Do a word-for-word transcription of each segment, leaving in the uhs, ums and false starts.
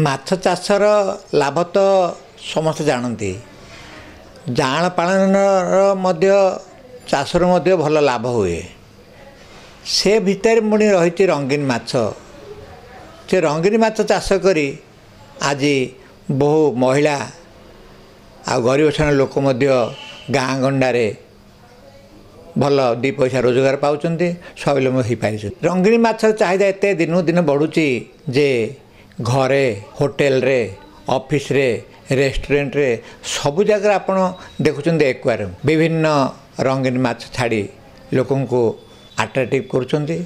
ମାଛ ଚାଷର ଲାଭ ତ ସମସ୍ତେ ଜାଣନ୍ତି। ଯାଆଁଳ ପାଳନର ମଧ୍ୟ ଚାଷରୁ ମଧ୍ୟ ଭଲ ଲାଭ ହୁଏ। ସେ ଭିତରେ ପୁଣି ରହିଛି ରଙ୍ଗୀନ ମାଛ। ସେ ରଙ୍ଗୀନ ମାଛ ଚାଷ କରି ଆଜି ବହୁ ମହିଳା ଆଉ ଗରିବ ଶ୍ରେଣୀର ଲୋକ ମଧ୍ୟ ଗାଁ ଗଣ୍ଡାରେ ଭଲ ଦୁଇ ପଇସା ରୋଜଗାର ପାଉଛନ୍ତି, ସ୍ୱାବଲମ୍ବୀ ହୋଇପାରିଛନ୍ତି। ରଙ୍ଗୀନ ମାଛର ଚାହିଦା ଏତେ ଦିନକୁ ଦିନ ବଢ଼ୁଛି ଯେ ଘରେ, ହୋଟେଲରେ, ଅଫିସରେ, ରେଷ୍ଟୁରାଣ୍ଟରେ ସବୁ ଜାଗାରେ ଆପଣ ଦେଖୁଛନ୍ତି ଏକ୍ୱାରିୟମ୍ ବିଭିନ୍ନ ରଙ୍ଗୀନ ମାଛ ଛାଡ଼ି ଲୋକଙ୍କୁ ଆଟ୍ରାକ୍ଟିଭ୍ କରୁଛନ୍ତି।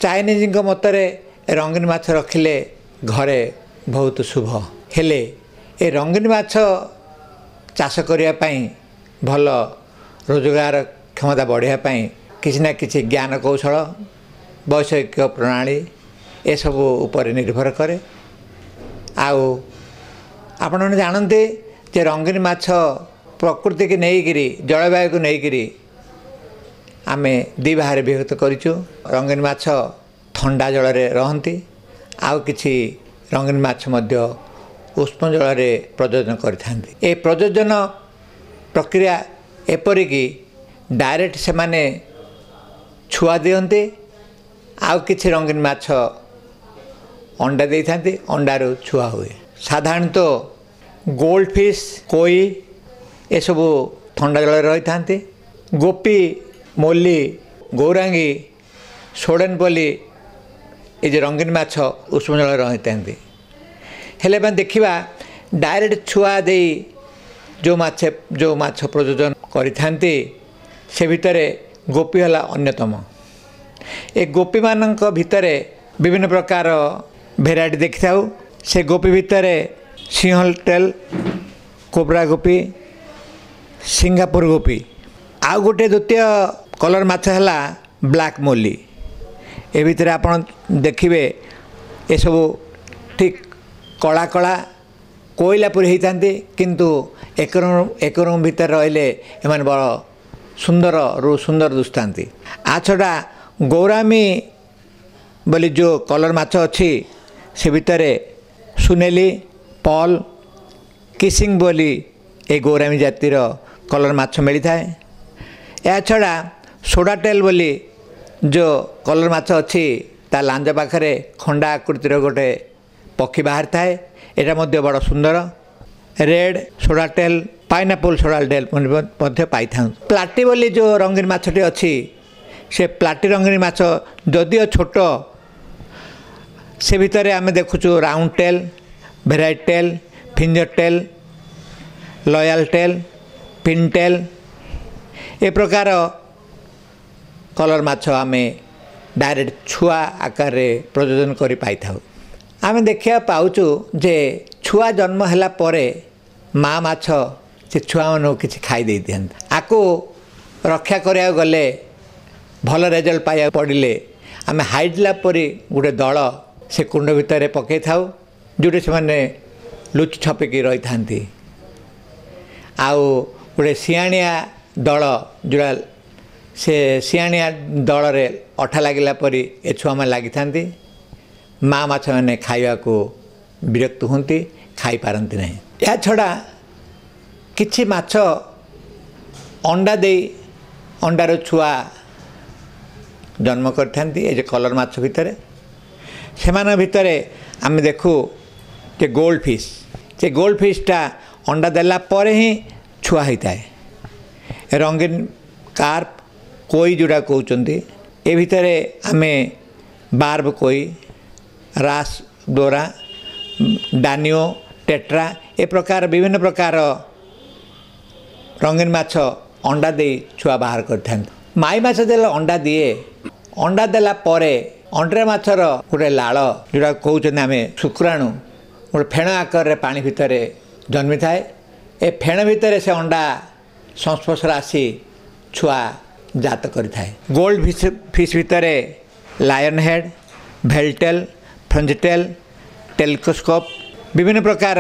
ଚାଇନିଜଙ୍କ ମତରେ ରଙ୍ଗୀନ ମାଛ ରଖିଲେ ଘରେ ବହୁତ ଶୁଭ। ହେଲେ ଏ ରଙ୍ଗୀନ ମାଛ ଚାଷ କରିବା ପାଇଁ, ଭଲ ରୋଜଗାର କ୍ଷମତା ବଢ଼ାଇବା ପାଇଁ କିଛି ନା କିଛି ଜ୍ଞାନ କୌଶଳ, ବୈଷୟିକ ପ୍ରଣାଳୀ ଏସବୁ ଉପରେ ନିର୍ଭର କରେ। ଆଉ ଆପଣମାନେ ଜାଣନ୍ତି ଯେ ରଙ୍ଗୀନ ମାଛ ପ୍ରକୃତିକି ନେଇକରି, ଜଳବାୟୁକୁ ନେଇକରି ଆମେ ଦୁଇ ଭାଗରେ ବିଭକ୍ତ କରିଛୁ। ରଙ୍ଗୀନ ମାଛ ଥଣ୍ଡା ଜଳରେ ରହନ୍ତି, ଆଉ କିଛି ରଙ୍ଗୀନ ମାଛ ମଧ୍ୟ ଉଷ୍ମ ଜଳରେ ପ୍ରଜନନ କରିଥାନ୍ତି। ଏ ପ୍ରଜନନ ପ୍ରକ୍ରିୟା ଏପରିକି ଡାଇରେକ୍ଟ ସେମାନେ ଛୁଆ ଦିଅନ୍ତି, ଆଉ କିଛି ରଙ୍ଗୀନ ମାଛ ଅଣ୍ଡା ଦେଇଥାନ୍ତି, ଅଣ୍ଡାରୁ ଛୁଆ ହୁଏ। ସାଧାରଣତଃ ଗୋଲ୍ଡ ଫିସ୍, କୋଇ ଏସବୁ ଥଣ୍ଡା ଜଳରେ ରହିଥାନ୍ତି। ଗୋପୀ, ମୋଲି, ଗୌରାଙ୍ଗୀ, ସୋଡ଼େନ ପଲି ଏ ଯେଉଁ ରଙ୍ଗୀନ ମାଛ ଉଷ୍ମ ଜଳରେ ରହିଥାନ୍ତି। ହେଲେ ଆମେ ଦେଖିବା ଡାଇରେକ୍ଟ ଛୁଆ ଦେଇ ଯେଉଁ ମାଛ ଯେଉଁ ମାଛ ପ୍ରଜନନ କରିଥାନ୍ତି, ସେ ଭିତରେ ଗୋପୀ ହେଲା ଅନ୍ୟତମ। ଏ ଗୋପୀମାନଙ୍କ ଭିତରେ ବିଭିନ୍ନ ପ୍ରକାର ଭେରାଇଟି ଦେଖିଥାଉ। ସେ ଗୋପୀ ଭିତରେ ସିଂହଲ ଟେଲ୍, କୋବ୍ରା ଗୋପୀ, ସିଙ୍ଗାପୁର ଗୋପୀ, ଆଉ ଗୋଟେ ଦ୍ୱିତୀୟ କଲର୍ ମାଛ ହେଲା ବ୍ଲାକ୍ ମୋଲି। ଏ ଭିତରେ ଆପଣ ଦେଖିବେ ଏସବୁ ଠିକ୍ କଳା କଳା କୋଇଲା ପରି ହେଇଥାନ୍ତି, କିନ୍ତୁ ଏକ ଏକ ରୁମ୍ ଭିତରେ ରହିଲେ ଏମାନେ ବଡ଼ ସୁନ୍ଦରରୁ ସୁନ୍ଦର ଦିଶୁଥାନ୍ତି। ଆ ଛଡ଼ା ଗୌରାମୀ ବୋଲି ଯେଉଁ କଲର୍ ମାଛ ଅଛି, ସେ ଭିତରେ ସୁନେଲି, ପଲ୍, କିସିଂ ବୋଲି ଏ ଗୌରାମୀ ଜାତିର କଲର୍ ମାଛ ମିଳିଥାଏ। ଏହା ଛଡ଼ା ସୋଡ଼ା ଟେଲ୍ ବୋଲି ଯେଉଁ କଲର୍ ମାଛ ଅଛି, ତା ଲାଞ୍ଜ ପାଖରେ ଖଣ୍ଡା ଆକୃତିର ଗୋଟେ ପକ୍ଷୀ ବାହାରିଥାଏ। ଏଇଟା ମଧ୍ୟ ବଡ଼ ସୁନ୍ଦର। Red sword tail, pineapple sword tail ମଧ୍ୟ ପାଇଥାଉ। ପ୍ଲାଟି ବୋଲି ଯେଉଁ ରଙ୍ଗୀନ ମାଛଟି ଅଛି, ସେ ପ୍ଲାଟି ରଙ୍ଗୀନ ମାଛ ଯଦିଓ ଛୋଟ, ସେ ଭିତରେ ଆମେ ଦେଖୁଛୁ round tail, variety tail, finger tail, lyre tail, pin tail, ଏ ପ୍ରକାର କଲର୍ ମାଛ ଆମେ ଡାଇରେକ୍ଟ ଛୁଆ ଆକାରରେ ପ୍ରଜନନ କରି ପାଇଥାଉ। ଆମେ ଦେଖିବାକୁ ପାଉଛୁ ଯେ ଛୁଆ ଜନ୍ମ ହେଲା ପରେ ମା ମାଛ ସେ ଛୁଆମାନଙ୍କୁ କିଛି ଖାଇ ଦେଇଦିଅନ୍ତି। ଆକୁ ରକ୍ଷା କରିବାକୁ ଗଲେ, ଭଲ ରେଜଲ୍ଟ ପାଇବାକୁ ପଡ଼ିଲେ ଆମେ ହାଇଡ୍ଲା ପରି ଗୋଟେ ଦଳ ସେ କୁଣ୍ଡ ଭିତରେ ପକାଇଥାଉ, ଯେଉଁଠି ସେମାନେ ଲୁଚି ଛପିକି ରହିଥାନ୍ତି। ଆଉ ଗୋଟେ ସିଆଣିଆ ଦଳ, ଯେଉଁଟା ସେ ସିଆଣିଆ ଦଳରେ ଅଠା ଲାଗିଲା ପରି ଏ ଛୁଆମାନେ ଲାଗିଥାନ୍ତି। ମା ମାଛମାନେ ଖାଇବାକୁ ବିରକ୍ତ ହୁଅନ୍ତି, ଖାଇପାରନ୍ତି ନାହିଁ। ଏହା ଛଡ଼ା କିଛି ମାଛ ଅଣ୍ଡା ଦେଇ ଅଣ୍ଡାରୁ ଛୁଆ ଜନ୍ମ କରିଥାନ୍ତି। ଏ ଯେଉଁ କଲର୍ ମାଛ ଭିତରେ, ସେମାନଙ୍କ ଭିତରେ ଆମେ ଦେଖୁ ଯେ ଗୋଲ୍ଡ ଫିସ୍, ସେ ଗୋଲ୍ଡ ଫିସ୍ଟା ଅଣ୍ଡା ଦେଲା ପରେ ହିଁ ଛୁଆ ହେଇଥାଏ। ରଙ୍ଗୀନ କାର୍ପ, କୋଇ ଯେଉଁଟା କହୁଛନ୍ତି, ଏ ଭିତରେ ଆମେ ବାର୍ବ କୋଇ, ରାସ୍ ଦୋରା, ଡାନିଓ, ଟେଟ୍ରା, ଏ ପ୍ରକାର ବିଭିନ୍ନ ପ୍ରକାର ରଙ୍ଗୀନ ମାଛ ଅଣ୍ଡା ଦେଇ ଛୁଆ ବାହାର କରିଥାନ୍ତି। ମାଇ ମାଛ ଦେଲେ ଅଣ୍ଡା ଦିଏ। ଅଣ୍ଡା ଦେଲା ପରେ ଅଣ୍ଡିରା ମାଛର ଗୋଟେ ଲାଳ, ଯେଉଁଟା କହୁଛନ୍ତି ଆମେ ଶୁକ୍ରାଣୁ, ଗୋଟେ ଫେଣ ଆକାରରେ ପାଣି ଭିତରେ ଜନ୍ମିଥାଏ। ଏ ଫେଣ ଭିତରେ ସେ ଅଣ୍ଡା ସଂସ୍ପର୍ଶରେ ଆସି ଛୁଆ ଜାତ କରିଥାଏ। ଗୋଲ୍ଡ ଫିସ୍ ଫିସ୍ ଭିତରେ ଲାୟନ୍ ହେଡ଼୍, ଭେଲଟେଲ୍, ଫ୍ରଞ୍ଜିଟେଲ୍, ଟେଲିସ୍କୋପ୍, ବିଭିନ୍ନ ପ୍ରକାର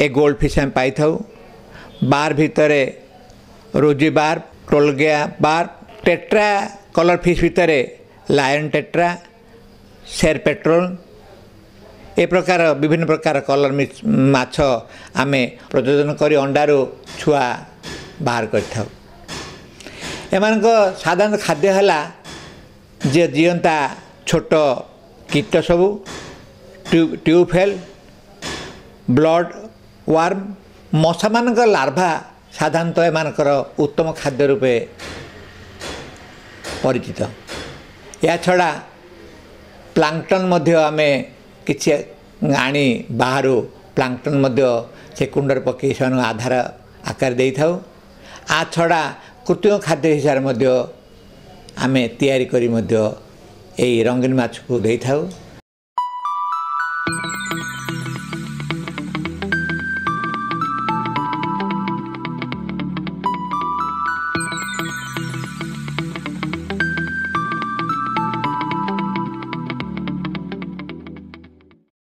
ଏ ଗୋଲ୍ଡ ଫିସ୍ ଆମେ ପାଇଥାଉ। ବାର ଭିତରେ ରୋଜି ବାର, ଟୋଲଗିଆ ବାର, ଟେଟ୍ରା କଲର୍ ଫିସ୍ ଭିତରେ ଲାୟନ୍ ଟେଟ୍ରା, ସେର୍ ପେଟ୍ରୋଲ, ଏ ପ୍ରକାର ବିଭିନ୍ନ ପ୍ରକାର କଲର୍ ମାଛ ଆମେ ପ୍ରଜନନ କରି ଅଣ୍ଡାରୁ ଛୁଆ ବାହାର କରିଥାଉ। ଏମାନଙ୍କ ସାଧାରଣ ଖାଦ୍ୟ ହେଲା ଯେ ଜିଅନ୍ତା ଛୋଟ କୀଟ ସବୁ, ଟ୍ୟୁବଫେଲ୍, ବ୍ଲଡ଼ ୱାର୍ମ, ମଶାମାନଙ୍କ ଲାର୍ଭା ସାଧାରଣତଃ ଏମାନଙ୍କର ଉତ୍ତମ ଖାଦ୍ୟ ରୂପେ ପରିଚିତ। ଏହାଛଡ଼ା ପ୍ଲାଙ୍କଟନ୍ ମଧ୍ୟ ଆମେ କିଛି ଆଣି ବାହାରୁ ପ୍ଲାଙ୍କଟନ୍ ମଧ୍ୟ ସେ କୁଣ୍ଡରେ ପକାଇ ସେମାନଙ୍କୁ ଆଧାର ଆକାର ଦେଇଥାଉ। ଆ ଛଡ଼ା କୃତ୍ରିମ ଖାଦ୍ୟ ହିସାବରେ ମଧ୍ୟ ଆମେ ତିଆରି କରି ମଧ୍ୟ ଏଇ ରଙ୍ଗୀନ ମାଛକୁ ଦେଇଥାଉ।